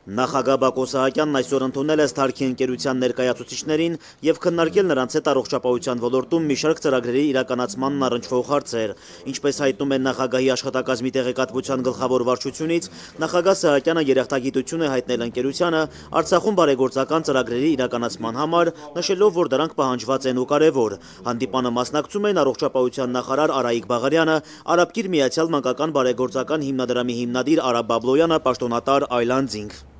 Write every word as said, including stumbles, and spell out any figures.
Նախագահ Բակո Սահակյանն այսօր ընդունել է Սթարքի ընկերության ներկայացուցիչներին և քննարկել նրանց հետ առողջապահության ոլորտում մի շարք ծրագրերի իրականացմանն առնչվող հարցեր։ Ինչպես հայտնում են նախագահի աշխատակազմի տեղեկատվության գլխավոր վարչությունից, նախագահ Սահակյանը երախտագիտություն է հայտնել ընկերությանը Արցախում բարեգործական ծրագրերի իրականացման համար, նշելով, որ դրանք պահանջված են ու կարևոր։ Հանդիպանը մասնակցում են առողջապահության նախարար Արայիկ Բաղարյանը, Արաբկիր Միացյալ Մանկական բարեգործական հիմնադրամի հիմնադիր Արա Բաբլոյանը, պաշտոնատար Այլանդզինգ։